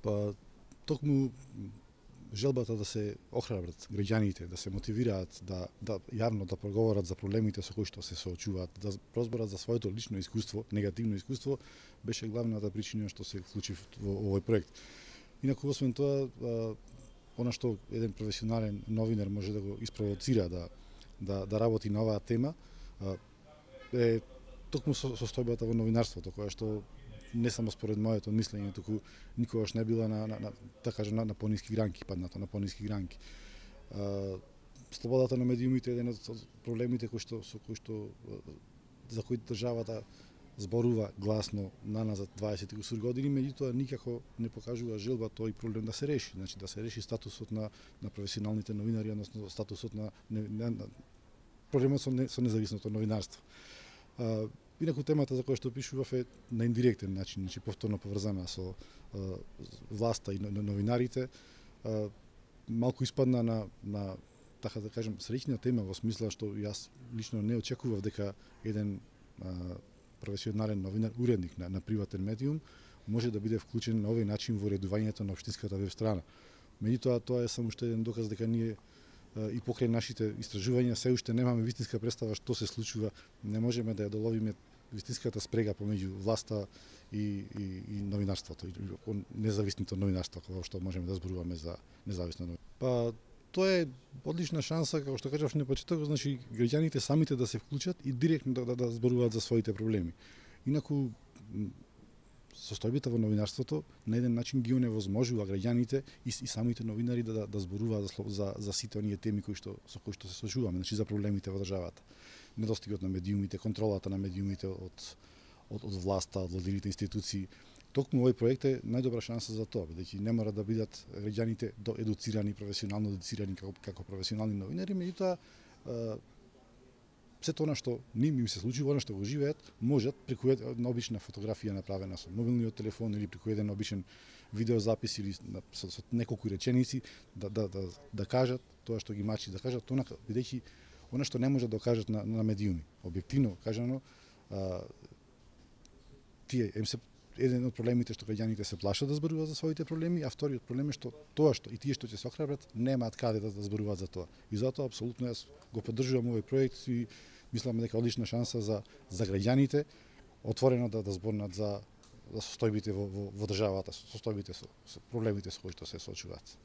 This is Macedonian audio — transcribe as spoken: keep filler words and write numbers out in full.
Па токму желбата да се охрабрат граѓаните, да се мотивираат да да јавно да проговорат за проблемите со кои што се соочуваат, да разберат за своето лично искуство, негативно искуство, беше главната причина што се вклучи во овој проект. Инаку освен тоа, она што еден професионален новинар може да го испровоцира да да да работи на оваа тема е токму состојбата во новинарството, која што не само според моето мислење, туку никогаш не била на, на, на да кажам, на, на пониски гранки, падната на пониски гранки. А, слободата на медиумите е еден од проблемите кои што со кои што за кои државата зборува гласно наназад дваесет и кусур години, меѓутоа никако не покажува желба тој проблем да се реши, значи да се реши статусот на на професионалните новинари, односно статусот на, на, на, на проблемот со, не, со независното новинарство. А, Инаку темата за која што пишував е на индиректен начин, значи повторно поврзана со а, власта и новинарите. А, малку испадна на, на така да кажем, среќна тема во смисла што јас лично не очекував дека еден а, професионален новинар, уредник на, на приватен медиум, може да биде вклучен на овој начин во редувањето на општинската веб страна. Меѓутоа, тоа е само уште еден доказ дека ние и покрај нашите истражувања се уште немаме вистинска представа што се случува, не можеме да ја доловиме вистинската спрега помеѓу власта и, и, и новинарството, и независното новинарство, кога што можеме да зборуваме за независно новинарство. Па тоа е одлична шанса, како што кажав на почетокот, значи граѓаните самите да се вклучат и директно да, да, да зборуваат за своите проблеми. Инаку состојбата во новинарството на еден начин ги оневозможува граѓаните и, и самите новинари да, да, да зборуваат за, за, за сите оние теми кои што, со кои што се соочуваме, значи за проблемите во државата. Недостигот на медиумите, контролата на медиумите од, од, од власта, од владините институции. Токму овој проект е најдобра шанса за тоа, бидејќи не мора да бидат граѓаните едуцирани, професионално едуцирани како, како професионални новинари, меѓутоа сето она што ним им се случи, она што го живеат, можат преку една обична фотографија направена со мобилниот телефон или преку еден обичен видеозапис или со, со неколку реченици да, да, да, да кажат тоа што ги мачи, да кажат она, бидејќи она што не може да кажат на, на медиуми. Објективно кажано, а, тие им се еден од проблемите што граѓаните се плашат да зборуваат за своите проблеми, а вториот проблем е што тоа што и тие што ќе се охрабрат немаат каде да, да зборуваат за тоа. И затоа апсолутно јас го поддржувам овој проект и мислам дека одлична шанса за за граѓаните отворено да да зборнат за за состојбите во во, во државата, состојбите со, со проблемите со кои што се соочуваат.